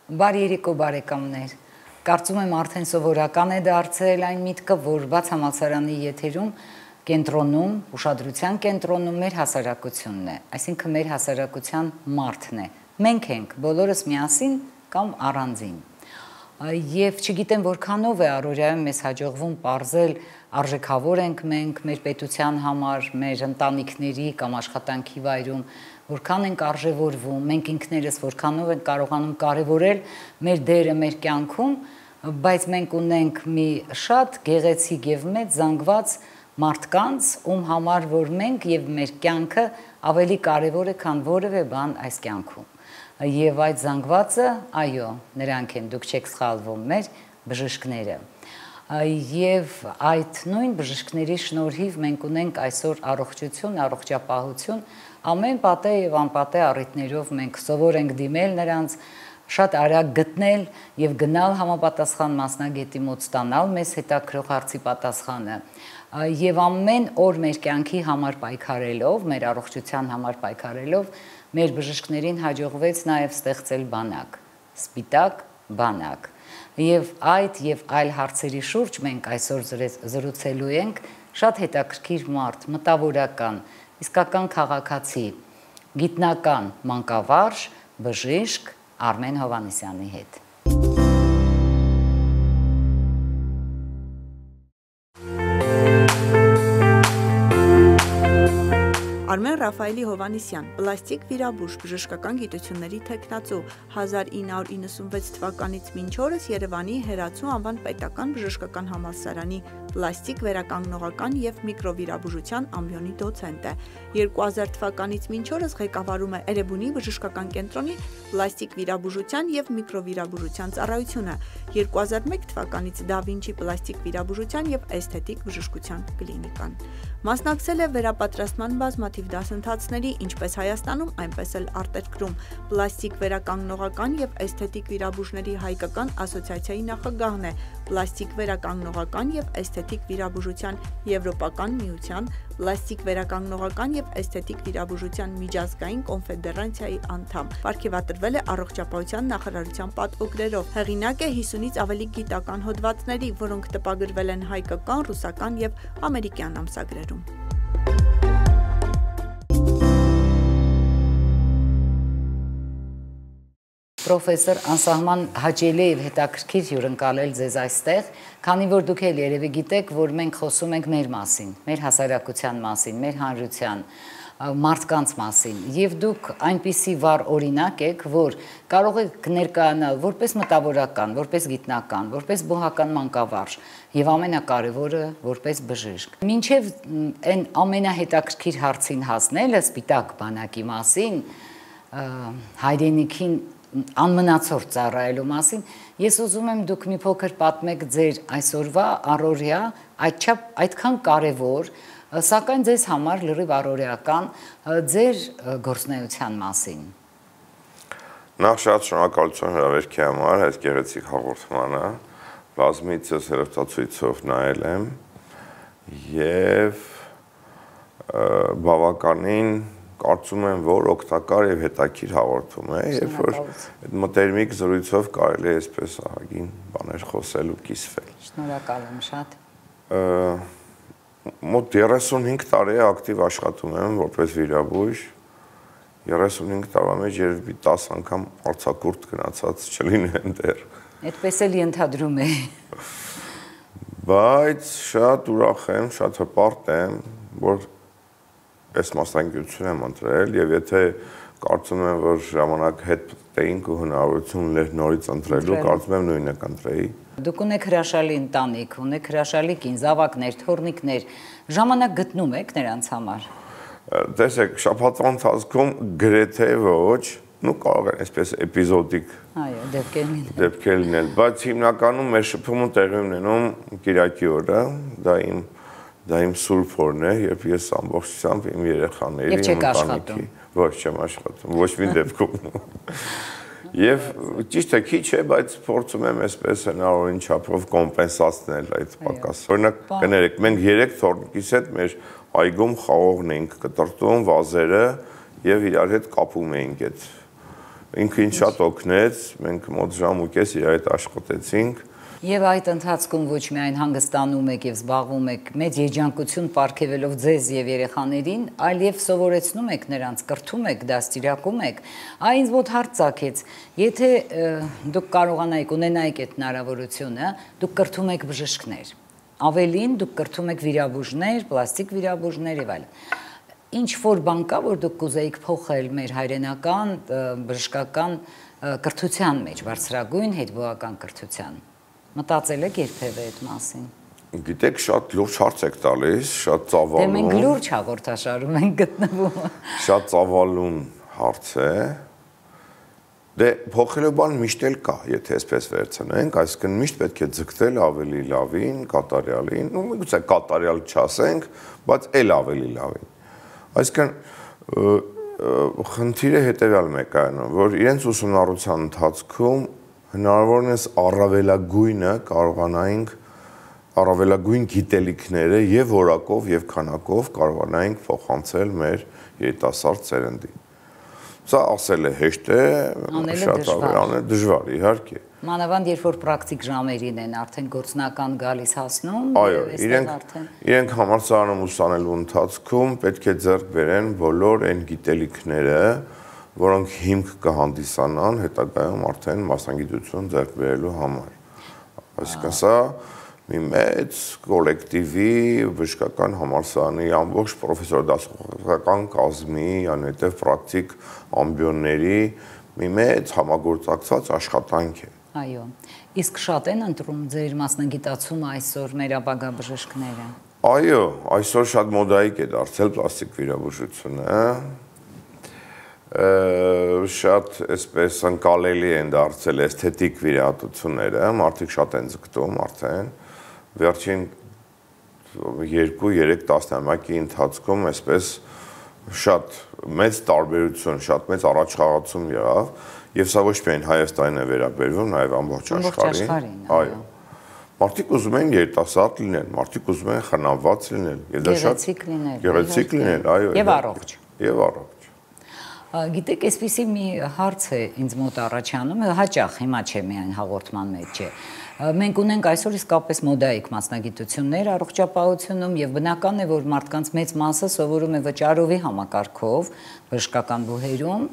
Բարի երեկո բարեկամներ։ Կարծում եմ արդեն սովորական է դարձել այն միտքը, որ բաց համալսարանի եթերում կենտրոնում, ուշադրության կենտրոնում մեր հասարակությունն է, այսինքն մեր հասարակության մարդն է։ Մենք ենք բոլորս միասին կամ առանձին։ Եվ չգիտեմ որքանով է առօրյայում մեզ հաջողվում պարզել արժեքավոր ենք մենք մեր պետության համար, մեր ընտանիքների կամ աշխատանքի վայրում, որքան ենք արժևորվում, մենք ինքներս որքանով ենք կարողանում կարևորել մեր դերը մեր կյանքում, բայց մենք ունենք մի շատ գեղեցիկ եւ մեծ զանգված մարդկանց, ում համար որ մենք եւ մեր կյանքը ավելի կարևոր է, քան որևէ բան այս կյանքում։ Եվ այդ զանգվածը, այո, նրանք են, դուք չեք սխալվում, մեր բժիշկները։ Եվ այդ նույն բժիշկների շնորհիվ մենք ունենք այսօր առողջություն, առողջապահություն, ամեն պատե եւ անպատե առիթներով մենք սովոր ենք դիմել նրանց, շատ արագ գտնել եւ գնալ համապատասխան մասնագետի մոտ ստանալ մեզ հետաքրող հարցի պատասխանը։ Եվ ամեն օր մեր կյանքի համար պայքարելով, մեր առողջության համար պայքարելով, մեր բժիշկներին հաջողվեց նաև ստեղծել բանակ, սպիտակ բանակ։ Եվ այդ եւ այլ հարցերի շուրջ մենք այսօր զրուցելու ենք շատ հետաքրքիր մարդ, մտավորական, իսկական քաղաքացի, գիտնական մանկավարժ, բժիշկ Արմեն Հովհաննիսյանի հետ։ Արմեն Ռաֆայելի Հովհաննիսյան, պլաստիկ վիրաբույժ, բժշկական գիտությունների թեկնածու, 1996 թվականից մինչ օրս Երևանի Հերացու անվան պետական բժշկական համալսարանի պլաստիկ վերականգնողական և միկրովիրաբուժության ամբիոնի դոցենտ է։ 2000 թվականից մինչ օրս ղեկավարում է Էրեբունի բժշկական կենտրոնի պլաստիկ վիրաբուժության և միկրովիրաբուժության ծառայությունը, 2001 թվականից Դա Վինչի պլաստիկ վիրաբուժության և էսթետիկ բժշկության կլինիկան։ Մասնակցել է վերապատրաստման բազմաթիվ դասընթացների, ինչպես Հայաստանում, այնպես էլ արտերկրում, պլաստիկ վերականգնողական և էսթետիկ վիրաբույժների հայկական ասոցիացիայի նախագահն է, պլաստիկ վերականգնողական և էսթետիկ վիրաբուժության Եվրոպական միության, պլաստիկ վերականգնողական և էսթետիկ վիրաբուժության միջազգային կոնֆեդերացիայի անդամ, պարգևատրվել է առողջապահության նախարարության պատվոգրերով, հեղինակ է 50-ից ավելի գիտական հոդվածների, որոնք տպագրվել են հայկական, ռուսական և ամերիկյան ամսագրերում։ Պրոֆեսոր, անսահման հաճելի եւ հետաքրքիր հյուրընկալել ձեզ այստեղ, քանի որ դուք էլ երևի գիտեք, որ մենք խոսում ենք մեր մասին, մեր հասարակության մասին, մեր հանրության, մարդկանց մասին, եւ դուք այնպիսի վառ օրինակ եք, որ կարող եք ներկայանալ որպես մտավորական, որպես գիտնական, որպես բուհական մանկավարժ եւ ամենակարևորը որպես բժիշկ։ Մինչեւ այն ամենահետաքրքիր հարցին հասնելը սպիտակ բանակի մասին, հայրենիքին անմնացորդ ծառայելու մասին, ես ուզում եմ դուք մի փոքր պատմեք ձեր այսօրվա առօրյա այդքան կարևոր, սակայն ձեզ համար լրիվ առօրյական ձեր գործունեության մասին։ Նախ շատ շնորհակալություն հրավերքի համար, այս գեղեցիկ հաղորդմանը, բազմիցս հեռուստացույցով նայել եմ եւ բավականին կարծում եմ, որ օգտակար եւ հետաքրքիր հաղորդում է, երբ որ այդ մտերմիկ զրույցով կարելի է այսպես ահագին բաներ խոսել ու կիսվել։ Շնորհակալ եմ շատ։ Մոտ 35 տարի ակտիվ աշխատում եմ որպես վիրաբույժ, 35 տարվա մեջ երևի 10 անգամ արձակուրդ գնացած չլինեն դեռ։ Այդպես էլ ենթադրում է։ Բայց շատ ուրախ եմ, շատ հպարտ եմ, որ այս մասնագիտություն եմ ընտրել եւ եթե կարծում եմ, որ ժամանակ հետ տեինք ու հնարավորություն ուներ նորից ընտրելու, կարծում եմ նույնը կընտրեի։ Դուք ունեք հրաշալի ընտանիք, ունեք հրաշալի կին, զավակներ, թոռնիկներ, ժամանակ գտնում եք նրանց համար։ Տեսեք, շաբաթվա ընթացքում գրեթե ոչ, կարող է այսպես էպիզոդիկ դեպքեր լինել, բայց հիմնականում մեր շփումը տեղի ունենում կիրակի օրը, դա իմ սուրբ օրն է, երբ ես ամբողջությամբ իմ երեխաների, իմ ընտանիքի, ոչ չեմ աշխատում, ոչ մի դեպքում։ Եվ ճիշտ է քիչ է, բայց փորձում եմ այսպես հնարավորին չափով կոմպենսացնել այդ պակասը։ Օրինակ կներեք, մենք 3 թոռնիկիս հետ մեր այգում խաղողն էինք կտրտում, վազերը եւ իրար հետ կապում էինք ինքը ինձ շատ օգնեց, մենք մոտ ժամ ու կես իր հետ աշխատեցինք։ Եվ այդ ընթացքում ոչ միայն հանգստանում եք եւ զբաղվում եք մեծ երջանկություն պարգևելով ձեզ եւ երեխաներին, այլ եւ սովորեցնում եք նրանց, կրթում եք, դաստիարակում եք։ Այ ինձ մոտ հարց ծագեց, եթե դուք կարողանայիք ունենայիք այդ հնարավորությունը, դուք կրթում եք բժիշկներ։ Ավելին դուք կրթում եք վիրաբույժներ, պլաստիկ վիրաբույժներ եւ այլն։ Ինչ որ բան կա, որ դուք կուզեիք փոխել մեր հայրենական բժշկական կրթության մեջ, բարձրագույն հետբուական կրթության։ Մտածել եք երբևէ այդ մասին։ Գիտեք, շատ լուրջ հարց եք տալիս, շատ ծավալուն։ Դե մենք լուրջ հաղորդաշարում ենք գտնվում։ Շատ ծավալուն հարց է։ Դե փոխելու բան միշտ էլ կա, եթե այսպես վերցնենք, այսինքն միշտ պետք է ձգտել ավելի լավին, կատարյալին, ու միգուցե կատարյալ չասենք, բայց էլ ավելի լավին։ Այսինքն խնդիրը հետևյալ մեկն է, որ իրենց ուսումնառության ընթացքում հնարավորինս առավելագույնը կարողանայինք առավելագույն գիտելիքները եւ որակով եւ քանակով կարողանայինք փոխանցել մեր երիտասարդ սերնդին։ Սա ասել է հեշտ է, շատ ավելի դժվար, իհարկե։ Մանավանդ երբ որ պրակտիկ ժամերին են արդեն գործնական գալիս հասնում, այո, իրենք համալսարանում ուսանելու ընթացքում պետք է ձեռք բերեն բոլոր այն գիտելիքները, որոնք հիմք կհանդիսանան հետագայում արդեն մասնագիտություն ձեռք բերելու համար։ Այսինքն սա մի մեծ կոլեկտիվի բժշկական համալսարանի ամբողջ պրոֆեսոր դասախոսական կազմի, անհետև պրակտիկ ամբիոնների մի մեծ համագործակցված աշխատանք է։ Այո, իսկ շատ են ընտրում ձեր մասնագիտացումը այսօր մեր ապագա բժիշկները։ Այո, այսօր շատ մոդայիկ է դարձել պլաստիկ վիրաբուժությունը, շատ այսպես ընկալելի են դարձել էսթետիկ վիրահատությունները, մարդիկ շատ են ձգտում արդեն, վերջին 2-3 տասնամյակի ընթացքում այսպես շատ մեծ տարբերություն, շատ մեծ առաջխաղացում եղավ, եւ սա ոչ միայն Հայաստանին է վերաբերվում, նաեւ ամբողջ աշխարհին։ Այո։ Մարդիկ ուզում են երիտասարդ լինել, մարդիկ ուզում են խնամված լինել, եւ դա շատ գեղեցիկ լինել, այո, եւ առողջ։ Եվ առողջ։ Գիտեք, այսպեսի մի հարց է ինձ մոտ առաջանում, հաճախ հիմա չէ միայն հաղորդման մեջ է։ Մենք ունենք այսօր իսկապես մոդայիկ մասնագիտություններ առողջապահությունում եւ բնական է, որ մարդկանց մեծ մասը սովորում է վճարովի համակարգով բժշկական բուհերում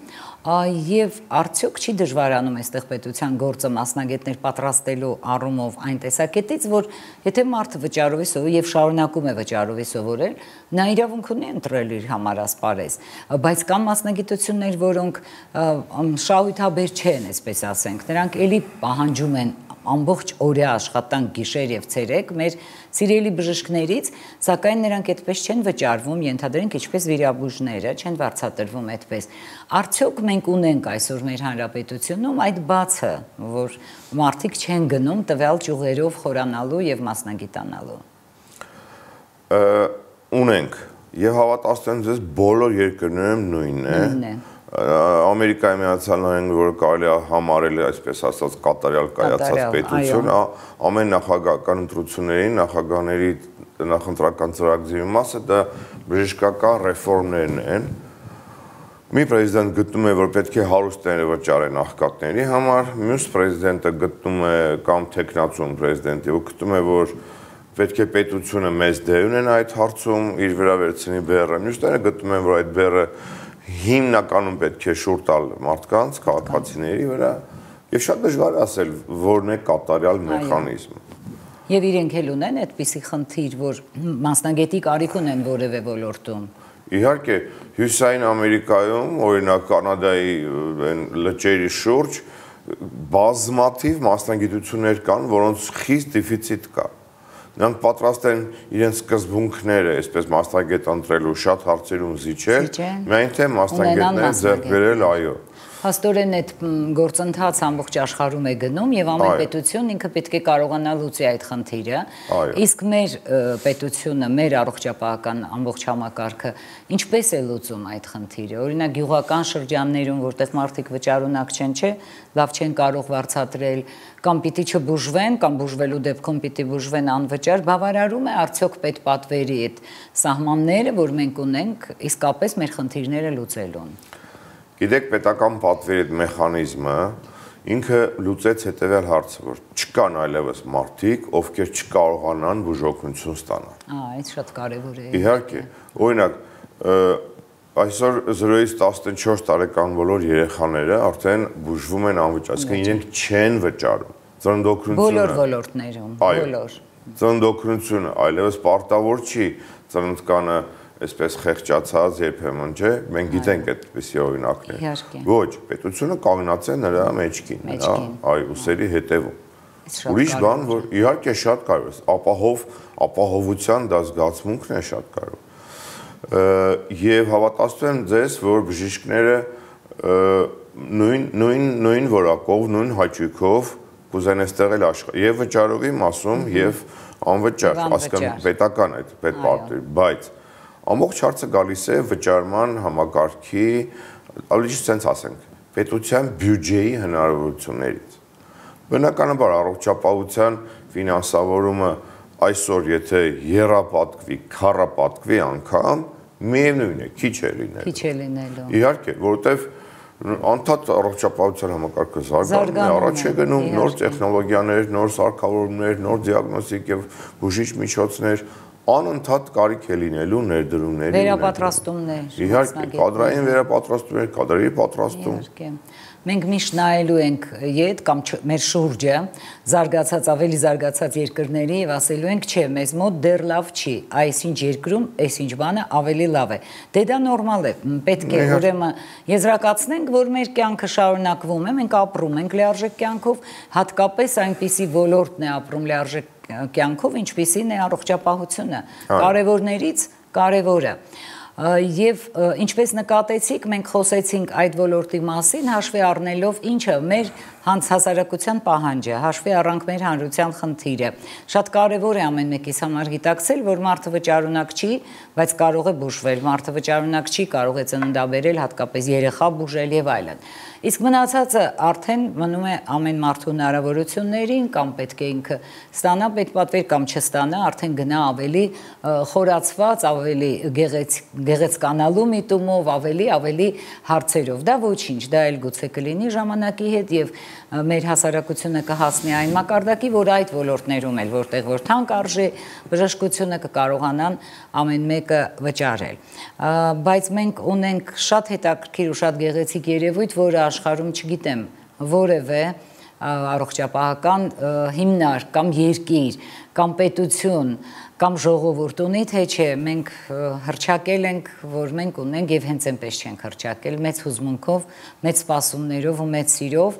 եւ արդյոք չի դժվարանում այստեղ պետության գործը մասնագետներ պատրաստելու առումով այն տեսակետից, որ եթե մարդը վճարովի սովորի եւ շարունակում է վճարովի սովորել, նա իրավունք ունի ընտրել իր համար ասպարեզ, բայց կան մասնագիտություններ, որոնք շահութաբեր չեն, այսպես ասենք, նրանք էլի պահանջում են ամբողջ օրյա աշխատանք գիշեր եւ ցերեկ մեր սիրելի բժիշկներից, սակայն նրանք այդպես չեն վճարվում, ենթադրենք ինչպես վիրաբույժները չեն վարձատրվում այդպես։ Արդյոք մենք ունենք այսօր մեր հանրապետությունում այդ բացը, որ մարդիկ չեն գնում տվյալ ճյուղերով խորանալու եւ մասնագիտանալու։ Ունենք եւ հավատացնեմ ձեզ բոլոր երկրներում նույնն է։ Ամերիկայի Միացյալ Նահանգները, որ կարելի է համարել այսպես ասած կատարյալ կայացած պետություն, ամեն նախագահական ընտրությունների նախագահների նախընտրական ծրագրերի մասը դա բժշկական ռեֆորմներն են։ Մի պրեզիդենտ գտնում է, որ պետք է հարուստները վճարեն աղքատների համար, մյուս պրեզիդենտը գտնում է կամ տեխնացուն պրեզիդենտը գտնում է, որ պետք է պետությունը մեծ դեր ունենա այդ հարցում, իր վրա վերցնի բեռը, մյուսները գտնում են, որ այդ բեռը հիմնականում պետք է շուռ տալ մարդկանց, քաղաքացիների վրա, եւ շատ դժվար է ասել, որն է կատարյալ մեխանիզմը։ Եվ իրենք էլ ունեն այդպիսի խնդիր, որ մասնագետի կարիք ունեն որևէ ոլորտում։ Իհարկե, Հյուսիսային Ամերիկայում, օրինակ Կանադայի լճերի շուրջ բազմաթիվ մասնագիտություններ կան, որոնց խիստ դեֆիցիտ կա։ Նրանք պատրաստ են իրենց սկզբունքները, այսպես մասնագետ ընտրելու շատ հարցերում զիջել, միայն թե մասնագետները ձեռք բերել, այո։ Հաստորեն այդ գործընթացը ամբողջ աշխարհում է գնում եւ ամեն պետություն ինքը պետք է կարողանա լուծի այդ խնդիրը։ Իսկ մեր պետությունը, մեր առողջապահական ամբողջ համակարգը ինչպես է լուծում այդ խնդիրը։ Օրինակ գյուղական շրջաններում, որտեղ մարդիկ վճարունակ չեն, չէ, լավ չեն կարող վարձատրել, կամ պիտի չբուժվեն, կամ բուժվելու դեպքում պիտի բուժվեն անվճար, բավարարում է արդյոք պետպատվերի այդ սահմանները, որ մենք ունենք իսկապես մեր խնդիրները լուծելուն։ Գիտեք, պետական պատվերի այդ մեխանիզմը ինքը լուծեց հետևյալ հարցը, որ չկան այլևս մարդիկ, ովքեր չկարողանան բուժօգնություն ստանալ։ Այդ շատ կարևոր է։ Իհարկե, օրինակ, այսօր 0-ից 14 տարեկան բոլոր երեխաները արդեն բուժվում են անվճար, այսինքն իրենք չեն վճարում։ Ծննդօգնությունը բոլոր ոլորտներում, բոլոր։ Ծննդօգնությունը այլևս պարտավոր չի ծննդկանը այսպես խեղճացած երբեմն, չէ՞, մենք գիտենք այդպիսի օրինակներ։ Ոչ, պետությունը կանգնած է նրա մեջքին, այ ուսերի հետևում։ Ուրիշ բան, որ իհարկե շատ կարևոր է, ապահովության դա զգացմունքն է շատ կարևոր։ Եվ հավատացնում եմ ձեզ, որ բժիշկները նույն որակով, նույն հաճույքով կուզեն այստեղ էլ աշխարհ եւ վճարովի մասում եւ անվճար, հասկանում պետական այդ պետպարտի, բայց ամբողջ հարցը գալիս է վճարման համակարգի, ավելի sense ասենք, պետության բյուջեի հնարավորություններից։ Բնականաբար առողջապահության ֆինանսավորումը այսօր եթե եռապատկվի, քառապատկվի անգամ, միևնույն է, քիչ է լինելու։ Քիչ է լինելու։ Իհարկե, որովհետև անդադ առողջապահության համակարգը զարգանում է, առաջ է գնում նոր տեխնոլոգիաներ, նոր սարքավորումներ, նոր դիագնոստիկ եւ բուժիչ միջոցներ, անընդհատ կարիք է լինելու ներդրումների վերապատրաստումներ, իհարկե, կադրային վերապատրաստումներ, կադրերի պատրաստում։ Մենք միշտ նայելու ենք ետ կամ մեր շուրջը զարգացած, ավելի զարգացած երկրների եւ ասելու ենք, չէ, մեզ մոտ դեռ լավ չի, այսինչ երկրում, այսինչ բանը ավելի լավ է։ Դե դա նորմալ է, պետք է ուրեմն եզրակացնենք, որ մեր կյանքը շարունակվում է, մենք ապրում ենք լիարժեք կյանքով, հատկապես այնպիսի ոլորտն է ապրում լիարժեք կյանքով, ինչպիսին է առողջապահությունը, կարևորներից կարևորը։ Եվ ինչպես նկատեցիք, մենք խոսեցինք այդ ոլորտի մասին, հաշվի առնելով ինչը մեր հասարակության պահանջը, հաշվի առանք մեր հանրության խնդիրը։ Շատ կարևոր է ամեն մեկիս համար գիտակցել, որ մարդը վճարունակ չի, բայց կարող է բուժվել, մարդը վճարունակ չի, կարող է ծննդաբերել, հատկապես երեխա բուժել եւ այլն։ Իսկ մնացածը արդեն մնում է ամեն մարդու հնարավորություններին, կամ պետք է ինքը ստանա պետպատվեր կամ չստանա, արդեն գնա ավելի խորացված, ավելի գեղեցկանալու միտումով, ավելի հարցերով։ Դա ոչինչ, դա էլ գուցե կլինի ժամանակի հետ եւ մեր հասարակությունը կհասնի այն մակարդակի, որ այդ ոլորտներում էլ որտեղ որ թանկ արժի բժշկությունը կկարողանան ամեն մեկը վճարել։ Բայց մենք ունենք շատ հետաքրքիր ու շատ գեղեցիկ երևույթ, որը աշխարհում չգիտեմ որևէ առողջապահական հիմնարկ կամ երկիր կամ պետություն կամ ժողովուրդ ունի, թե չէ, մենք հռչակել ենք, որ մենք ունենք եւ հենց այնպես չենք հռչակել, մեծ հուզմունքով, մեծ սպասումներով ու մեծ սիրով,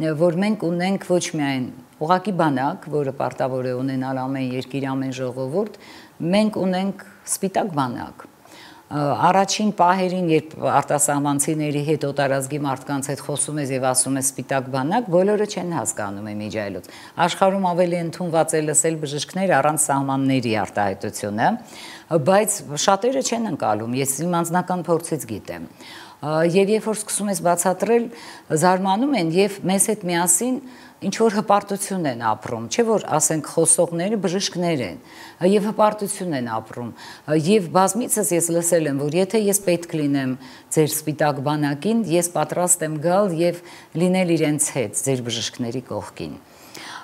որ մենք ունենք ոչ միայն ուղղակի բանակ, որը պարտավոր է ունենալ ամեն երկիր, ամեն ժողովուրդ, մենք ունենք սպիտակ բանակ։ Առաջին պահերին, երբ արտասահմանցիների հետ օտարազգի մարդկանց հետ խոսում ես եւ ասում ես սպիտակ բանակ, բոլորը չեն հասկանում իմիջայլոց։ Աշխարհում ավելի ընդունված է լսել բժիշկներ առանց սահմանների արտահայտությունը, բայց շատերը չեն ընկալում, ես իմ անձնական փորձից գիտեմ։ Եվ երբ որ սկսում ես բացատրել, զարմանում են եւ մեզ հետ միասին ինչ որ հպարտություն են ապրում, չէ՞ որ ասենք խոսողները բժիշկներ են եւ հպարտություն են ապրում եւ բազմիցս ես լսել եմ, որ եթե ես պետք լինեմ ձեր սպիտակ բանակին, ես պատրաստ եմ գալ եւ լինել իրենց հետ, ձեր բժիշկների կողքին։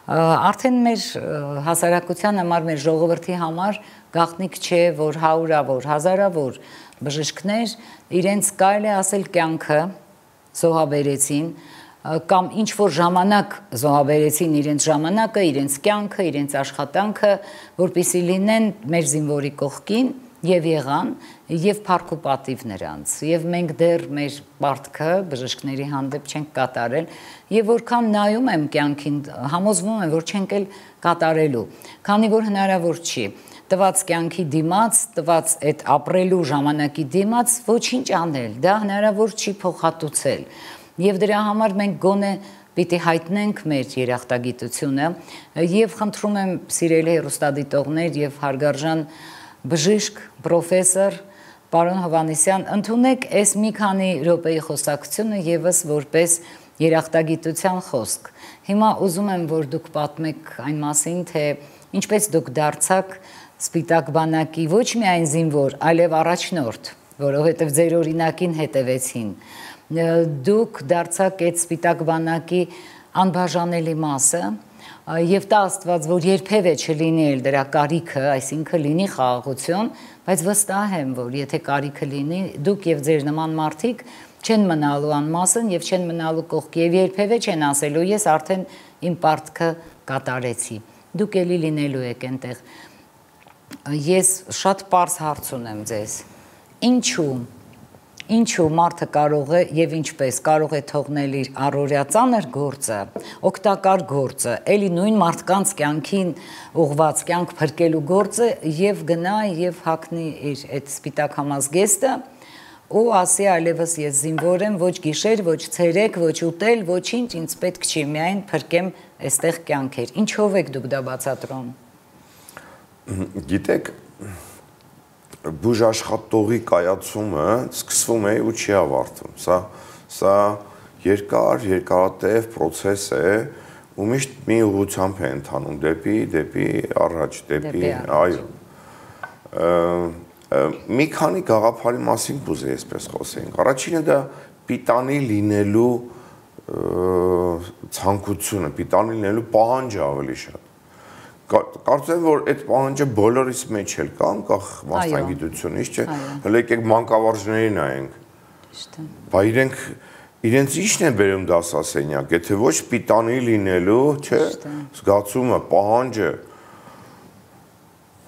Արդեն մեր հասարակության համար, մեր ժողովրդի համար գաղտնիք չէ, որ հարյուրավոր, հազարավոր բժիշկներ իրենց կարելի ասել կյանքը զոհաբերեցին կամ ինչ որ ժամանակ զոհաբերեցին իրենց ժամանակը, իրենց կյանքը, իրենց աշխատանքը, որպեսզի լինեն մեր զինվորի կողքին եւ եղան եւ փառք ու պատիվ նրանց եւ մենք դեռ մեր պարտքը բժիշկների հանդեպ չենք կատարել եւ որքան նայում եմ կյանքին համոզվում եմ որ չենք էլ կատարելու քանի որ հնարավոր չի տված կյանքի դիմաց տված այդ ապրելու ժամանակի դիմաց ոչինչ անել դա հնարավոր չի փոխհատուցել եւ դրա համար մենք գոնե պիտի հայտնենք մեր երախտագիտությունը եւ խնդրում եմ սիրելի հեռուստադիտողներ եւ հարգարժան բժիշկ, պրոֆեսոր, պարոն Հովհաննիսյան, ընդունեք այս մի քանի րոպեի խոսակցությունը եւս որպես երախտագիտության խոսք։ Հիմա ուզում եմ, որ դուք պատմեք այն մասին, թե ինչպես դուք դարձաք սպիտակ բանակի ոչ միայն զինվոր, այլև առաջնորդ, որովհետև ձեր օրինակին հետևեցին դուք դարձաք այդ սպիտակ բանակի անբաժանելի մասը եւ տա Աստված, որ երբևէ չլինի էլ դրա կարիքը, այսինքն լինի խաղաղություն, բայց վստահ եմ, որ եթե կարիքը լինի, դուք եւ ձեր նման մարդիկ չեն մնալու անմասն եւ չեն մնալու կողքի եւ երբևէ չեն ասելու ես արդեն իմ պարտքը կատարեցի։ Դուք էլի լինելու եք այնտեղ։ Ես շատ པարզ հարց ունեմ ձեզ։ Ինչու մարդը կարող է եւ ինչպես կարող է թողնել իր առօրյա ծանր գործը, օգտակար գործը, էլի նույն մարդկանց կյանքին ուղված կյանք փրկելու գործը եւ գնա եւ հագնի իր այդ սպիտակ համազգեստը ու ասի այլևս ես զինվոր եմ, ոչ գիշեր, ոչ ցերեկ, ոչ ուտել, ոչինչ ինձ պետք չի, միայն փրկեմ այստեղ կյանքեր։ Ինչով եք դուք դա բացատրում։ Գիտեք, բուժաշխատողի կայացումը սկսվում է ու չի ավարտվում։ Սա երկարատև process է, ու միշտ մի ուղղությամբ է ընթանում դեպի առաջ, այո։ Մի քանի գաղափարի մասին կուզեի այսպես խոսենք։ Առաջինը դա պիտանի լինելու ցանկությունը, պիտանի լինելու պահանջը ավելի շատ։ Կարծում եմ, որ այդ պահանջը բոլորիս մեջ էլ կա, անկախ մասնագիտությունից, չէ՞։ Հələ եկեք մանկավարժների նայենք։ Բա իրենց ի՞նչն է բերում դասասենյակ, եթե ոչ պիտանի լինելու, չէ՞, զգացումը, պահանջը,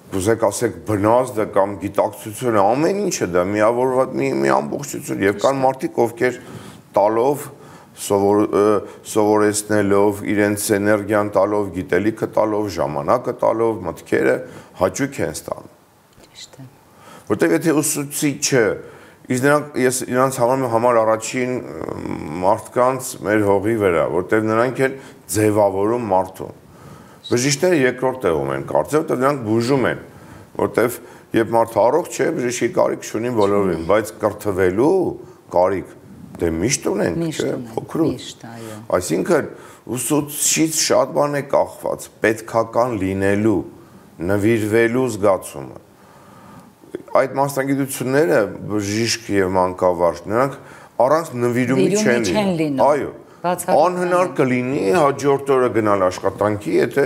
կուզեք ասեք բնազդը կամ գիտակցությունը, ամեն ինչը դա միավորված մի ամբողջություն եւ կան մարդիկ, ովքեր տալով սովորեցնելով, իրենց էներգիան տալով, գիտելիքը տալով, ժամանակը տալով, մտքերը հաճույք են ստանում։ Ճիշտ է։ Որտեղ եթե ուսուցիչը, ես իրանց համար առաջին մարդկանց մեր հողի վրա, որտեղ նրանք են ձևավորում մարդուն։ Բժիշկները երկրորդ տեղում են կարծեմ, որտեղ նրանք բուժում են, որտեղ երբ մարդը առողջ է, բժշկի կարիք չունի բոլորին, բայց կրթվելու կարիք դե միշտ ունենք, չէ՞, փոքրուց։ Այսինքն ուսուցիչից շատ բան է կախված, պետքական լինելու, նվիրվելու զգացումը։ Այդ մասնագիտությունները բժիշկ եւ մանկավարժ, նրանք առանց նվիրումի չեն լինում։ Այո։ Անհնար կլինի հաջորդ օրը գնալ աշխատանքի, եթե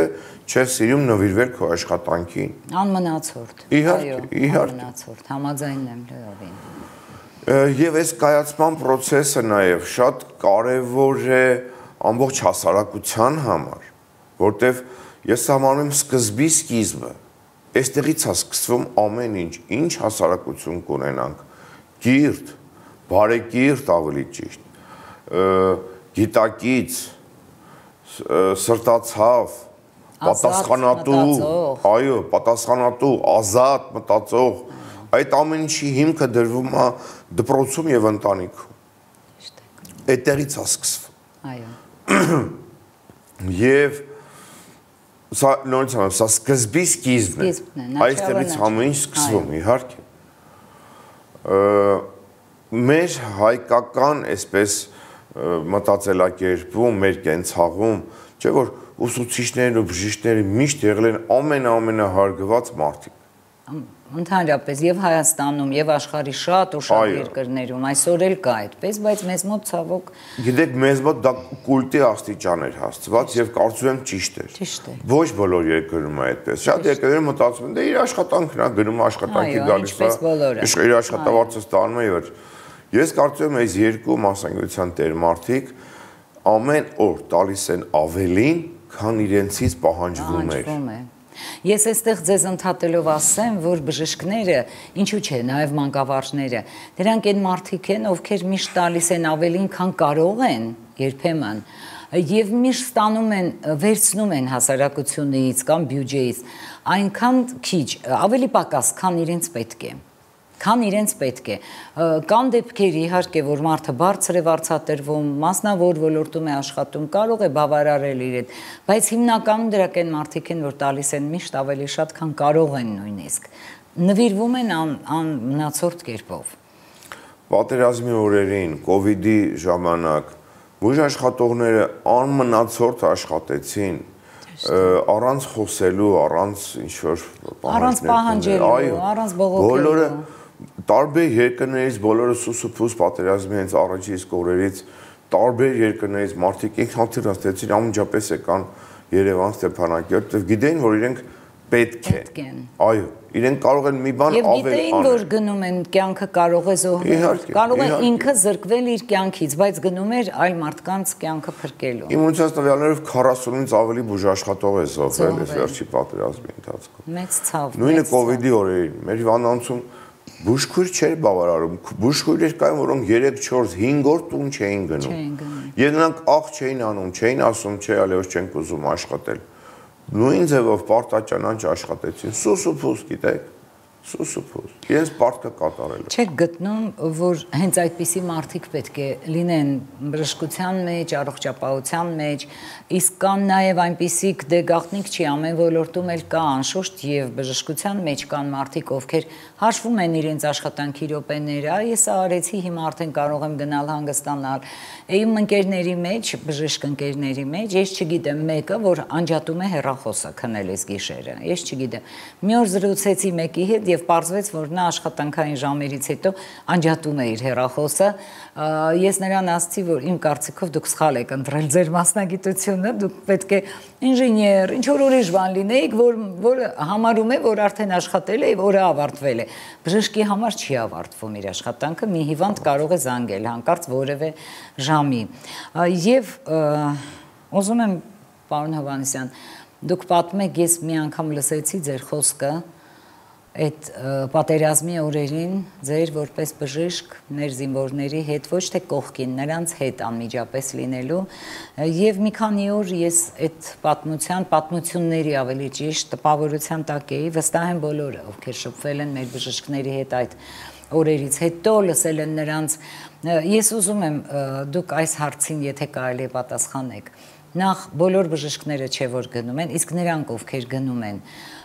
չես սիրում նվիրվել քո աշխատանքին։ Անմնացորդ։ Իհարկե։ Անմնացորդ, համաձայն եմ լրովին։ Եվ այս կայացման process-ը նաև շատ կարևոր է ամբողջ հասարակության համար, որտեվ ես համարում եմ սկզբի սկիզբը, այստեղից է սկսվում ամեն ինչ հասարակություն կունենանք, կիրթ, բարեկիրթ ավելի ճիշտ, գիտակից, սրտացավ, պատասխանատու, այո, պատասխանատու, ազատ մտածող, այդ ամեն ինչի հիմքը դրվում է դպրոցում եւ ընտանիքում։ Այդտեղից է սկսվում։ Այո։ Եվ սա նորից ասեմ, սա սկզբի սկիզբն է։ Այստեղից ամեն ինչ սկսվում, իհարկե։ Մեր հայկական այսպես մտածելակերպում, մեր կենցաղում, չէ՞ որ ուսուցիչներն ու բժիշկները միշտ եղել են ամենահարգված մարդիկ։ Ընդհանրապես եւ Հայաստանում եւ աշխարհի շատ ու շատ երկրներում այսօր էլ կա այդպես, բայց մեզ մոտ ցավոք գիտեք, մեզ մոտ դա կուլտի աստիճան էր հասցված եւ կարծում եմ ճիշտ էր։ Ճիշտ է։ Ոչ բոլոր երկրներում է այդպես։ Շատ երկրներում մտածում են, դե իր աշխատանքն է, գնում աշխատանքի գալիս է։ Իր աշխատավարձը ստանում է եւ ես կարծում եմ այս երկու մասնագիտության տերմարդիկ ամեն օր տալիս են ավելին, քան իրենցից պահանջվում էր։ Ես այստեղ ձեզ ընդհատելով ասեմ, որ բժիշկները, ինչու՞ չէ, նաև մանկավարժները, դրանք այն մարդիկ են, ովքեր միշտ տալիս են ավելին, քան կարող են, երբեմն, եւ միշտ ստանում են, վերցնում են հասարակությունից կամ բյուջեից, այնքան քիչ, ավելի պակաս, քան իրենց պետք է։ Կան դեպքեր իհարկե, որ մարդը բարձր է վարձատրվում, մասնավոր ոլորտում է աշխատում, կարող է բավարարել իրեն, բայց հիմնականում դրանք են մարդիկ են, որ տալիս են միշտ ավելի շատ, քան կարող են նույնիսկ, նվիրվում են անմնացորդ կերպով։ Պատերազմի օրերին, կովիդի ժամանակ, բուժաշխատողները անմնացորդ աշխատեցին, առանց խոսելու, առանց ինչ-որ պահանջելու, առանց բողոքելու։ Բոլորը տարբեր երկրներից բոլորը սուսուփուս պատերազմի հենց առաջի իսկ օրերից տարբեր երկրներից մարդիկ ինքնաթիռ ստեցին անմիջապես եկան Երևան Ստեփանակերտ, եւ գիտեին, որ իրենք պետք են։ Այո, իրենք կարող են մի բան ավել անել։ Եվ գիտեին, որ գնում են կյանքը կարող է զոհվել, կարող է ինքը զրկվել իր կյանքից, բայց գնում էր այլ մարդկանց կյանքը փրկելու։ Իմ ունեցած տվյալներով 40-ից ավելի բուժաշխատող է զոհվել այս վերջի պատերազմի ընթացքում։ Մեծ ցավ։ Նույնը կոവിഡ്ի օրերին մեր հիվանդանոցում բուժքույր չէր բավարարում, բուժքույրեր կային, որոնք 3-4-5 օր տուն չէին գնում։ Եվ նրանք աղ չէին անում, չէին ասում, չէ, այլևս չենք ուզում աշխատել։ Նույն ձևով պարտաճանաչ աշխատեցին, սուսուփուս, գիտեք, սուսուփուս, իրենց պարտքը կատարելու։ Չեք գտնում, որ հենց այդպիսի մարդիկ պետք է լինեն բժշկության մեջ, առողջապահության մեջ, իսկ կան նաև այնպիսիք դե գաղտնիք չի, ամեն ոլորտում էլ կա անշուշտ եւ բժշկության մեջ կան մարդիկ, ովքեր հաշվում են իրենց աշխատանքի րոպեները, ես արեցի, հիմա արդեն կարող եմ գնալ հանգստանալ։ Իմ ընկերների մեջ, բժիշկ ընկերների մեջ, ես չգիտեմ մեկը, որ անջատում է հեռախոսը քնելիս գիշերը։ Ես չգիտեմ։ Մի օր զրուցեցի մեկի հետ եւ պարզվեց, որ նա աշխատանքային ժամերից հետո անջատում է իր հեռախոսը։ Ես նրան ասացի, որ իմ կարծիքով դուք սխալ եք ընտրել ձեր մասնագիտությունը, դուք պետք է ինժեներ, ինչ որ ուրիշ բան լինեիք, որը համարում է, որ արդեն աշխատել է եւ օրը ավարտվել է։ Բժշկի համար չի ավարտվում իր աշխատանքը, մի հիվանդ կարող է զանգել հանկարծ որևէ ժամի։ Եվ ուզում եմ, պարոն Հովհաննիսյան, դուք պատմում եք, ես մի անգամ լսեցի ձեր խոսքը այդ պատերազմի օրերին ձեր որպես բժիշկ մեր զինվորների հետ ոչ թե կողքին, նրանց հետ անմիջապես լինելու եւ մի քանի օր ես այդ պատմությունների ավելի ճիշտ տպավորության տակ էի, վստահ եմ բոլորը, ովքեր շփվել են մեր բժիշկների հետ այդ օրերից հետո լսել են նրանց, ես ուզում եմ դուք այս հարցին եթե կարելի է պատասխանեք, նախ բոլոր բժիշկները չէ որ գնում են, իսկ նրանք ովքեր գնում են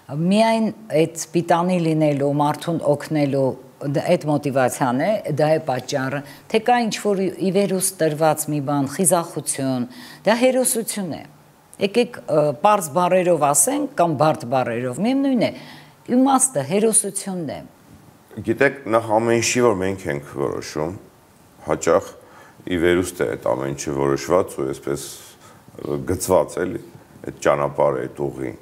միայն այդ պիտանի լինելու, մարդուն օգնելու այդ մոտիվացիան է, դա է պատճառը, թե կա ինչ-որ ի վերուս տրված մի բան, խիզախություն, դա հերոսություն է։ Եկեք պարզ բառերով ասենք կամ բարդ բառերով, միևնույն է, իմաստը հերոսությունն է։ Գիտեք, նախ ամեն ինչի որ մենք ենք որոշում, հաճախ ի վերուստ է այդ ամեն ինչը որոշված ու այսպես գծված էլի, այդ ճանապարհը, այդ ուղին։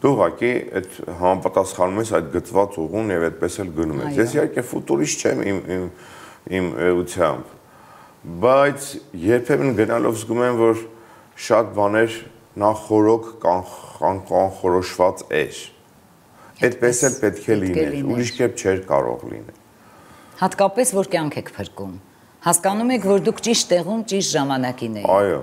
Դու ուղղակի այդ համապատասխանում ես այդ գծված ուղուն եւ այդպես էլ գնում ես։ Ես իհարկե ֆուտուրիստ չեմ իմ էությամբ, բայց երբեմն գնալով զգում եմ, որ շատ բաներ նախորոք կանխորոշված էր։ Այդպես էլ պետք է լիներ, ուրիշ կերպ չէր կարող լինել։ Հատկապես որ կյանք եք փրկում։ Հասկանում եք, որ դուք ճիշտ տեղում, ճիշտ ժամանակին եք։ Այո։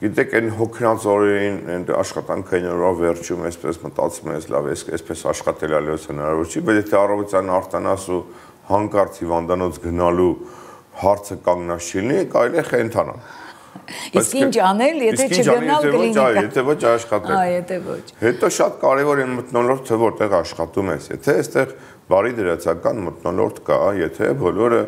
Գիտեք, այն հոգնած օրերին, այն աշխատանքային օրվա վերջում այսպես մտածում ես, լավ, այսպես աշխատել այլևս հնարավոր չի, բայց եթե առավոտյան արտանաս ու հանկարծ հիվանդանոց գնալու հարցը կանգնած չլինի, կարելի է խենթանալ։ Իսկ ինչ անել, եթե չգնալ կլինիկա։ Եթե ոչ աշխատել։ Եթե ոչ։ Հետո շատ կարևոր է մթնոլորտը, որտեղ աշխատում ես։ Եթե այստեղ բարի դրացական մթնոլորտ կա, եթե բոլորը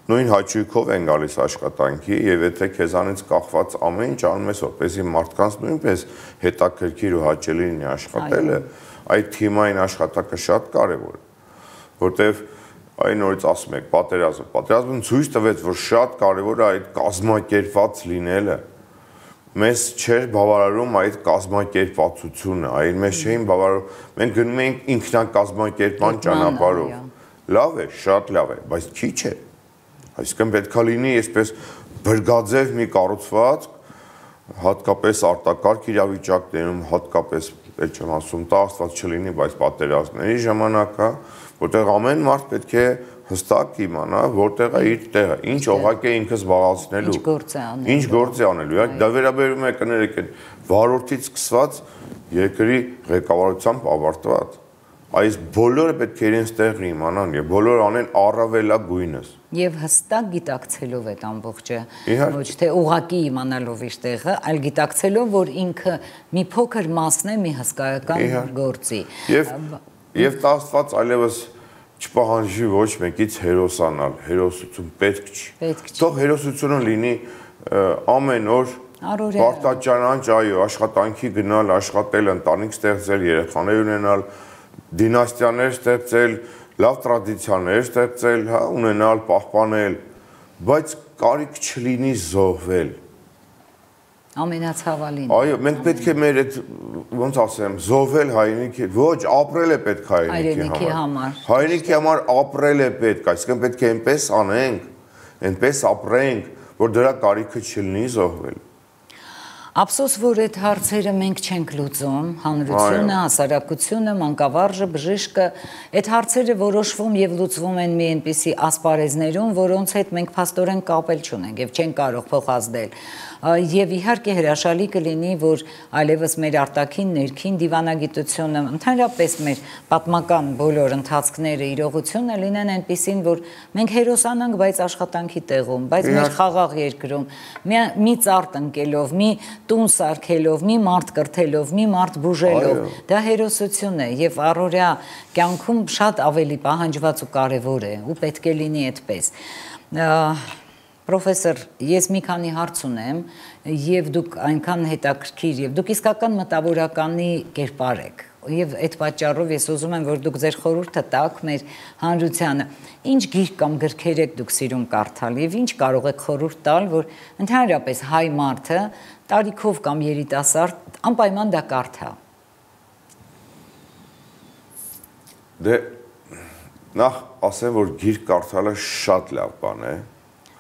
նույն հաճույքով են գալիս աշխատանքի եւ եթե քեզանից կախված ամեն ինչ անում ես, որպեսզի մարդկանց նույնպես հետաքրքիր ու հաճելի լինի աշխատելը, այդ թիմային աշխատանքը շատ կարեւոր է, որտեւ այն նորից ասում եք պատերազմը ցույց տվեց, որ շատ կարեւոր է այդ կազմակերպված լինելը։ Մեզ չէր բավարարում այդ կազմակերպվածությունը, այլ մեզ չէին բավարարում, մենք գնում էինք ինքնակազմակերպման ճանապարհով։ Լավ է, շատ լավ է, բայց քիչ է։ Այսինքն պետք է լինի այսպես բրգաձև մի կառուցվածք, հատկապես արտակարգ իրավիճակներում, հատկապես էլ չեմ ասում, տա Աստված չլինի, բայց պատերազմների ժամանակա, որտեղ ամեն մարդ պետք է հստակ իմանա, որտեղ է իր տեղը, ինչ օղակ է ինքը զբաղեցնելու, ինչ գործ է անելու։ Դա վերաբերում է կներեք այն վարորդից սկսված երկրի ղեկավարությամբ ավարտված։ Այս բոլորը պետք է իրենց տեղը իմանան եւ բոլորը անեն առավելագույնս։ Եվ հստակ գիտակցելով այդ ամբողջը, ոչ թե ուղակի իմանալով իր տեղը, այլ գիտակցելով, որ ինքը մի փոքր մասն է մի հսկայական գործի։ Եվ դա Աստված այլևս չպահանջի ոչ մեկից հերոսանալ, հերոսություն պետք չի։ Թող հերոսությունը լինի ամեն օր պարտաճանաչ, այո, աշխատանքի գնալ, աշխատել, ընտանիք ստեղծել, երեխաներ ունենալ, դինաստիաներ ստեղծել, լավ տրադիցիաներ ստեղծել, հա, ունենալ, պահպանել, բայց կարիք չլինի զոհվել։ Ամենացավալին։ Այո, մենք պետք է մեր այդ ոնց ասեմ, զոհվել հայրենիքի, ոչ, ապրել է պետք հայրենիքի համար։ Հայրենիքի համար ապրել է պետք, այսինքն պետք է այնպես անենք, այնպես ապրենք, որ դրա կարիքը չլինի զոհվել։ Ափսոս, որ այդ հարցերը մենք չենք լուծում, հանրությունը, հասարակությունը, մանկավարժը, բժիշկը, այդ հարցերը որոշվում եւ լուծվում են մի այնպիսի ասպարեզներում, որոնց հետ մենք փաստորեն կապել չունենք եւ չենք կարող փոխազդել։ Եվ իհարկե հրաշալի կլինի, որ այլևս մեր արտաքին ներքին դիվանագիտությունը, ընդհանրապես մեր պատմական բոլոր ընթացքները, իրողությունը լինեն այնպիսին, որ մենք հերոսանանք, բայց աշխատանքի տեղում, բայց մեր խաղաղ երկրում, մի ծառ տնկելով, մի տուն սարքելով, մի մարդ կրթելով, մի մարդ բուժելով, դա հերոսություն է եւ առօրյա կյանքում շատ ավելի պահանջված ու կարեւոր է ու պետք է լինի այդպես։ Պրոֆեսոր, ես մի քանի հարց ունեմ եւ դուք այնքան հետաքրքիր եւ դուք իսկական մտավորականի կերպար եք եւ այդ պատճառով ես ուզում եմ որ դուք ձեր խորհուրդը տաք մեր հանրությանը ինչ գիրք կամ գրքեր եք դուք սիրում կարդալ եւ ինչ կարող եք խորհուրդ տալ որ ընդհանրապես հայ մարդը տարիքով կամ երիտասարդ անպայման դա կարդա։ Դե նախ ասեմ որ գիրք կարդալը շատ լավ բան է։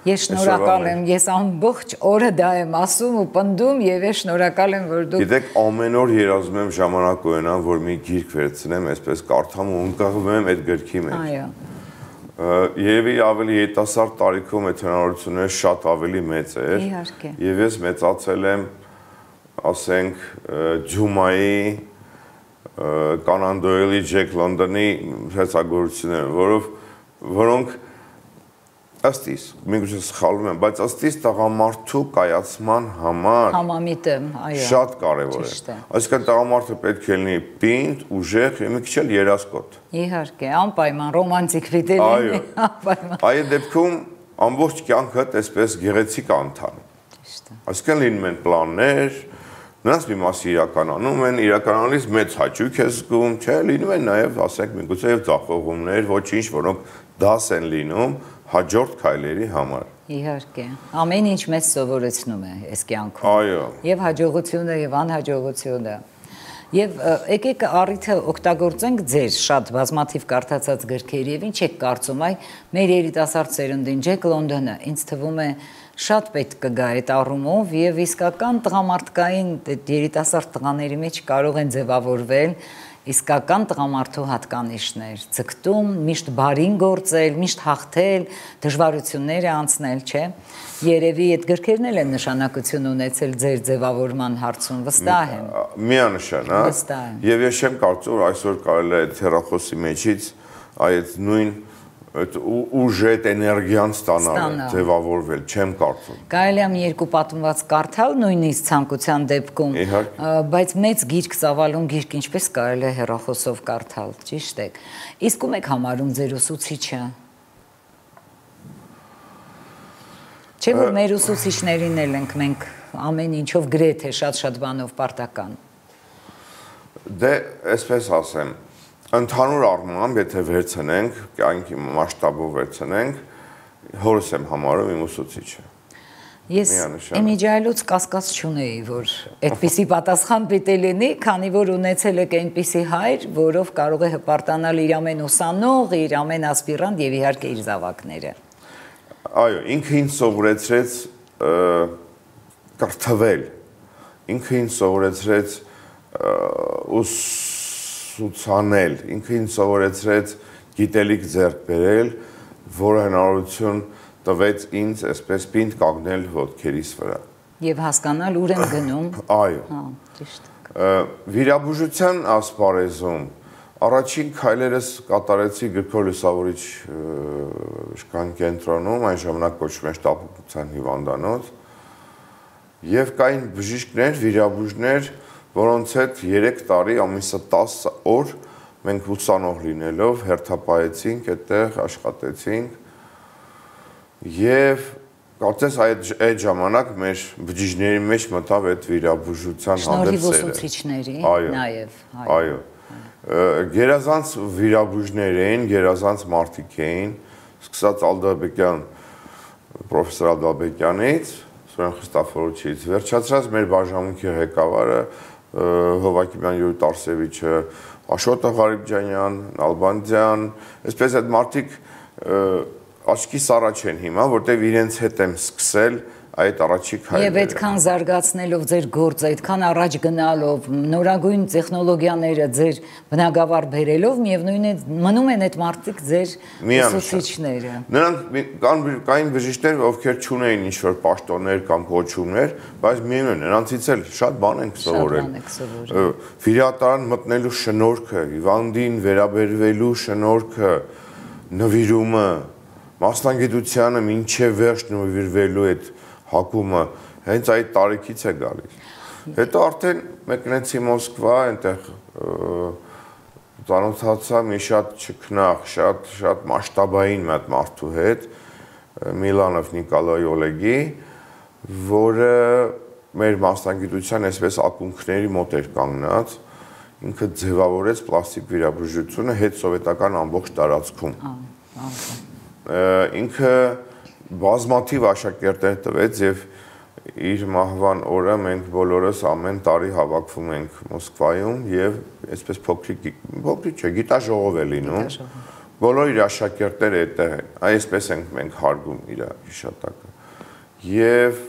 Ես շնորհակալ եմ, ես ամբողջ օրը դա եմ ասում ու պնդում եւ ես շնորհակալ եմ, որ դուք Գիտեք, ամեն օր երազում եմ ժամանակ ունենամ, որ մի գիրք վերցնեմ, այսպես կարդամ ու ընկղվում եմ այդ գրքի մեջ։ Այո։ Երևի ավելի հետասարդ տարիքում այդ հնարավորությունը շատ ավելի մեծ էր։ Իհարկե։ Եվ ես մեծացել եմ, ասենք, Ջումայի, Կոնան Դոյլի, Ջեք Լոնդոնի հերցագործությունները, որոնք ըստ իս, միգուցե սխալվում եմ, բայց ըստ իս տղամարդու կայացման համար համամիտ եմ, այո։ Շատ կարևոր է։ Այսինքն տղամարդը պետք է լինի պինդ, ուժեղ եւ մի քիչ էլ երասկոտ։ Իհարկե, անպայման ռոմանտիկ պիտի լինի, անպայման։ Այդ դեպքում ամբողջ կյանքդ այսպես գեղեցիկ անթան։ Այսինքն լինում են պլաններ, նրանց մի մասը իրականանում են, իրականանալիս մեծ հաճույք է զգում, չէ, լինում են նաեւ, ասենք, միգուցե եւ ձախողումներ, ոչինչ, որոնք դաս են լինում հաջորդ քայլերի համար։ Իհարկե, ամեն ինչ մեզ սովորեցնում է այս կյանքում։ Այո։ Եվ հաջողությունը եւ անհաջողությունը։ Եվ եկեք առիթը օգտագործենք ձեր շատ բազմաթիվ կարդացած գրքերի եւ ինչ եք կարծում այ մեր երիտասարդ սերնդին Ջեք Լոնդոնը ինձ թվում է շատ պետք կգա այդ առումով եւ իսկական տղամարդկային երիտասարդ տղաների մեջ կարող են ձևավորվել իսկական տղամարդու հատկանիշներ, ձգտում, միշտ բարին գործել, միշտ հաղթել, դժվարությունները անցնել, չէ։ Երևի այդ գրքերն էլ են նշանակություն ունեցել ձեր ձևավորման հարցում, վստահ եմ։ Միանշան, հա։ Վստահ եմ։ Եվ ես չեմ կարծում, որ այսօր կարելի է այդ հեռախոսի մեջից այդ նույն ուժը, այդ էներգիան ստանալ, ձևավորվել, չեմ կարծում։ Կարելի է մի երկու պատմված կարդալ նույնիսկ ցանկության դեպքում, բայց մեծ գիրք ծավալուն գիրք ինչպես կարելի է հեռախոսով կարդալ, ճիշտ է։ Իսկ ում եք համարում ձեր ուսուցիչը։ Չէ՞ որ մեր ուսուցիչներին էլ ենք մենք ամեն ինչով գրեթե շատ բանով պարտական։ Դե, այսպես ասեմ, ընդհանուր առմամբ, եթե վերցնենք, կյանքի մասշտաբով վերցնենք, հորս եմ համարում իմ ուսուցիչը։ Ես իմիջայլուց կասկած չունեի, որ այդպիսի պատասխան պիտի լինի, քանի որ ունեցել եք այնպիսի հայր, որով կարող է հպարտանալ իր ամեն ուսանող, իր ամեն ասպիրանտ եւ իհարկե իր զավակները։ Այո, ինքը ինձ սովորեցրեց կրթվել, ինքը ինձ սովորեցրեց ուսուցանել, ինքը ինձ սովորեցրեց գիտելիք ձեռք բերել, որը հնարավորություն տվեց ինձ այսպես պինդ կանգնել ոտքերիս վրա։ Եվ հասկանալ ուր եմ գնում։ Այո։ Հա, ճիշտ։ Վիրաբուժության ասպարեզում առաջին քայլերս կատարեցի Գրքոր լուսավորիչ իշխան կենտրոնում, այն ժամանակ կոչվում էր շտապության հիվանդանոց, եւ կային բժիշկներ, վիրաբույժներ, որոնց հետ 3 տարի ամիսը 10 օր մենք ուսանող լինելով հերթապահեցինք, այդտեղ աշխատեցինք եւ կարծես այդ ժամանակ մեր բջիջների մեջ մտավ այդ վիրաբուժության հանդեպ սերը։ Շնորհիվ ուսուցիչների, նաեւ։ Այո։ Գերազանց վիրաբույժներ էին, գերազանց մարդիկ էին, սկսած Ալդաբեկյան, պրոֆեսոր Ալդաբեկյանից, Սուրեն Խրիստոֆորովիչից, վերջացրած մեր բաժանմունքի ղեկավարը Հովակիմյան Յուրի Տարսևիչը, Աշոտը Ղարիբջանյան, Ալբանդյան, այսպես այդ մարդիկ աչքիս առաջ են հիմա, որտեղ իրենց հետ եմ սկսել այդ առաջիկ հայերը։ Եվ այդքան զարգացնելով ձեր գործը, այդքան առաջ գնալով, նորագույն տեխնոլոգիաները ձեր բնագավառ բերելով, միևնույն է մնում են այդ մարդիկ ձեր ուսուցիչները։ Նրանք կային բժիշկներ, ովքեր չունեին ինչ-որ պաշտոններ կամ կոչումներ, բայց միևնույն է, նրանցից էլ շատ բան ենք սովորել։ Վիրահատարան մտնելու շնորհքը, հիվանդին վերաբերվելու շնորհքը, նվիրումը, մասնագիտությանը մինչև վերջ նվիրվելու այդ հակումը հենց այդ տարիքից է գալիս։ Հետո արդեն մեկնեցի Մոսկվա, այնտեղ ծանոթացա մի շատ չքնաղ, շատ մասշտաբային մի հատ մարդու հետ, Միլանով Նիկոլայ Օլեգի, որը մեր մասնագիտության այսպես ակունքների մոտ էր կանգնած, ինքը ձևավորեց պլաստիկ վիրաբուժությունը հետսովետական ամբողջ տարածքում։ Ինքը բազմաթիվ աշակերտներ տվեց եւ իր մահվան օրը մենք բոլորս ամեն տարի հավաքվում ենք Մոսկվայում եւ այսպես փոքրիկ չէ, գիտաժողով է լինում։ Բոլոր իր աշակերտները այդտեղ են։ Այսպես ենք մենք հարգում իր հիշատակը։ Եվ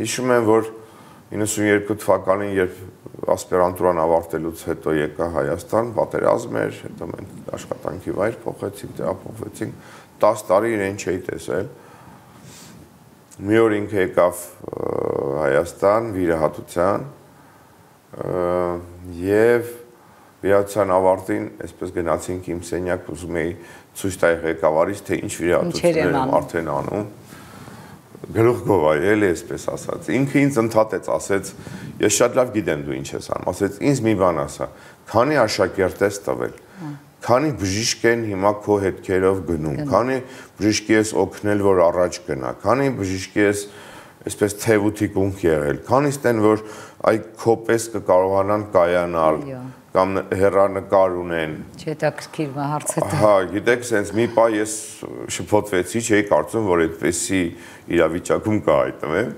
հիշում եմ, որ 92 թվականին, երբ ասպիրանտուրան ավարտելուց հետո եկա Հայաստան, պատերազմ էր, հետո մենք աշխատանքի վայր փոխեցինք, տեղափոխվեցինք, 10 տարի իրեն չէի տեսել։ Մի օր ինքը եկավ Հայաստան վիրահատության եւ վիրահատության ավարտին այսպես գնացինք իմ սենյակ, ուզում էի ցույց տալ ղեկավարից, թե ինչ վիրահատություններ եմ արդեն անում։ Գլուխ գովայ, էլի այսպես ասած։ Ինքը ինձ ընդհատեց, ասեց, ես շատ լավ գիտեմ դու ինչ ես անում, ասեց, ինձ մի բան ասա, քանի աշակերտ ես տվել, քանի բժիշկ են հիմա քո հետքերով գնում, քանի բժիշկի ես օգնել, որ առաջ գնա, քանի բժիշկի ես այսպես թևութիկունք եղել, քանիստ են, որ այ քո պես կկարողանան կայանալ կամ հեռանկար ունեն։ Չհետաքրքիր հարցը։ Հա, գիտեք, sense մի պահ ես շփոթվեցի, չէի կարծում, որ այդպեսի իրավիճակում կա այդտեղ։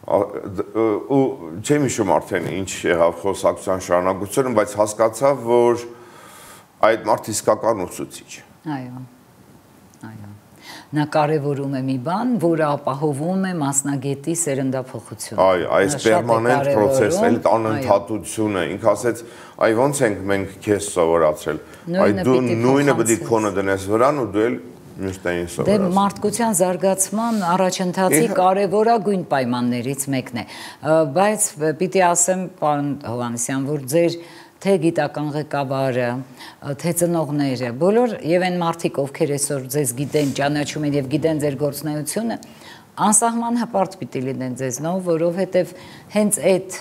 Ու չեմ հիշում արդեն ինչ եղավ խոսակցության շարունակությունը, բայց հասկացա, որ այդ մարդ իսկական ուսուցիչ։ Այո։ Նա կարևորում է մի բան, որը ապահովում է մասնագետի սերնդափոխությունը։ Այո, այս պերմանենտ process-ը, այդ անընդհատությունը, ինքը ասեց, այ ոնց ենք մենք քեզ սովորացրել։ Այ դու նույնը պետք է քոնը դնես վրան ու դու էլ մյուսներին սովորացրել։ Դե մարդկության զարգացման առաջընթացի կարևորագույն պայմաններից մեկն է։ Բայց պիտի ասեմ, պարոն Հովհաննիսյան, որ ձեր թե գիտական ղեկավարը, թե ծնողները, բոլոր եւ այն մարդիկ, ովքեր այսօր ձեզ գիտեն, ճանաչում են եւ գիտեն ձեր գործունեությունը, անսահման հպարտ պիտի լինեն ձեզնով, որովհետեւ հենց այդ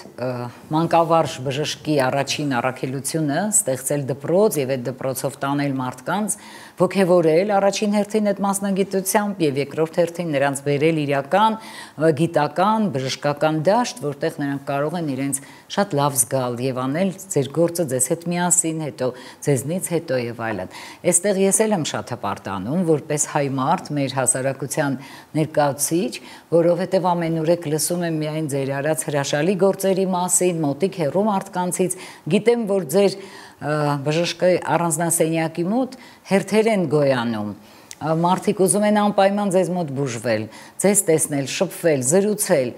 մանկավարժ բժշկի առաջին առաքելությունը ստեղծել դպրոց եւ այդ դպրոցով տանել մարդկանց, ոգևորել առաջին հերթին այդ մասնագիտությամբ եւ երկրորդ հերթին նրանց բերել իրական գիտական, բժշկական դաշտ, որտեղ նրանք կարող են իրենց շատ լավ զգալ եւ անել ձեր գործը ձեզ հետ միասին, հետո ձեզնից հետո եւ այլն։ Այստեղ ես էլ եմ շատ հպարտանում, որպես հայ մարդ, մեր հասարակության ներկայացուցիչ, որովհետեւ ամենուրեք լսում եմ միայն ձեր արած հրաշալի գործերի մասին, մոտիկ հեռու մարդկանցից, գիտեմ, որ ձեր բժշկի առանձնասենյակի մոտ հերթեր են գոյանում, մարդիկ ուզում են անպայման ձեզ մոտ բուժվել, ձեզ տեսնել, շփվել, զրուցել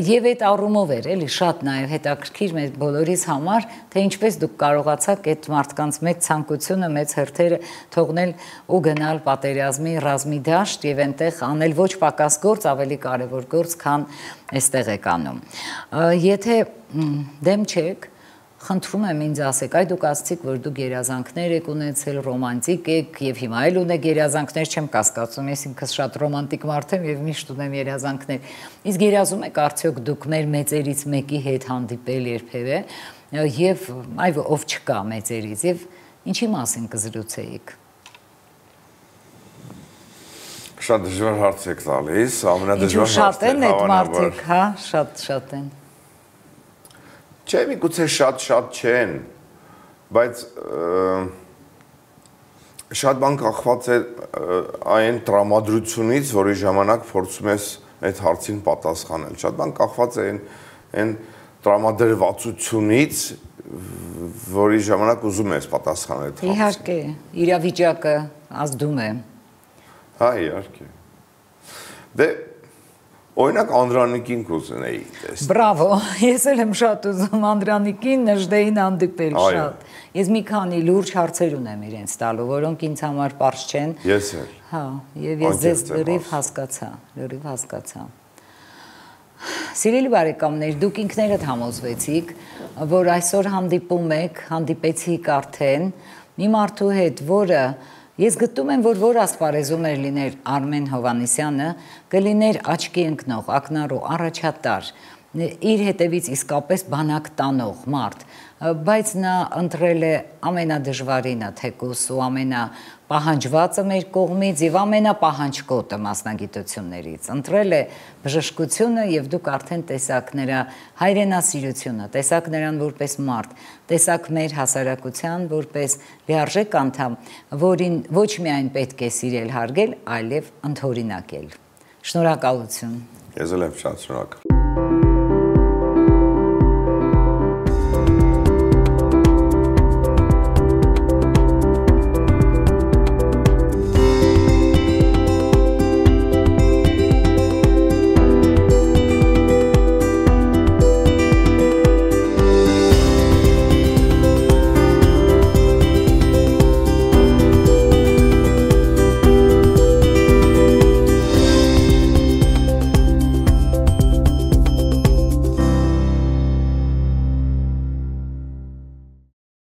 եւ այդ առումով էր էլի շատ նաեւ հետաքրքիր մեր բոլորիս համար, թե ինչպես դուք կարողացաք այդ մարդկանց մեծ ցանկությունը, մեծ հերթերը թողնել ու գնալ պատերազմի ռազմի դաշտ եւ այնտեղ անել ոչ պակաս գործ, ավելի կարեւոր գործ, քան այստեղ եք անում։ Եթե դեմ չեք, խնդրում եմ ինձ ասեք, այ դուք ասացիք, որ դուք գերազանքներ եք ունեցել, ռոմանտիկ եք եւ հիմա էլ ունեք գերազանքներ, չեմ կասկածում, ես ինքս շատ ռոմանտիկ մարդ եմ եւ միշտ ունեմ գերազանքներ։ Իսկ գերազում եք արդյոք դուք մեր մեծերից մեկի հետ հանդիպել երբևէ եւ այ ով չկա մեծերից եւ ինչի մասին կզրուցեիք։ Շատ դժվար հարց եք տալիս, ամենադժվար հարցն է, շատ են այդ մարդիկ, հա, շատ են։ Չէ, միգուցե շատ չեն, բայց շատ բան կախված է այն տրամադրությունից, որի ժամանակ փորձում ես այդ հարցին պատասխանել։ Շատ բան կախված է այն տրամադրվածությունից, որի ժամանակ ուզում ես պատասխանել այդ հարցին։ Իհարկե, իրավիճակը ազդում է։ Հա, իհարկե։ Դե օրինակ Անդրանիկին կուզենեի տեսնել։ Բրավո, ես էլ եմ շատ ուզում Անդրանիկին, Նժդեին հանդիպել շատ։ Ես մի քանի լուրջ հարցեր ունեմ իրենց տալու, որոնք ինձ համար պարզ չեն։ Ես էլ։ Հա, եւ ես ձեզ լրիվ հասկացա։ Սիրելի բարեկամներ, դուք ինքներդ համոզվեցիք, որ այսօր հանդիպեցիք արդեն մի մարդու հետ, որը ես գտնում եմ, որ ասպարեզում էր լիներ Արմեն Հովհաննիսյանը, կլիներ աչքի ընկնող, ակնառու, առաջատար, իր հետևից իսկապես բանակ տանող մարդ, բայց նա ընտրել է ամենադժվարինը թեկուս ու ամենապահանջվածը մեր կողմից եւ ամենապահանջկոտը մասնագիտություններից, ընտրել է բժշկությունը եւ դուք արդեն տեսաք նրա հայրենասիրությունը, տեսաք նրան որպես մարդ, տեսաք մեր հասարակության որպես լիարժեք անդամ, որին ոչ միայն պետք է սիրել, հարգել, այլև ընդօրինակել։ Շնորհակալություն։ Ես էլ եմ շատ շնորհակալ։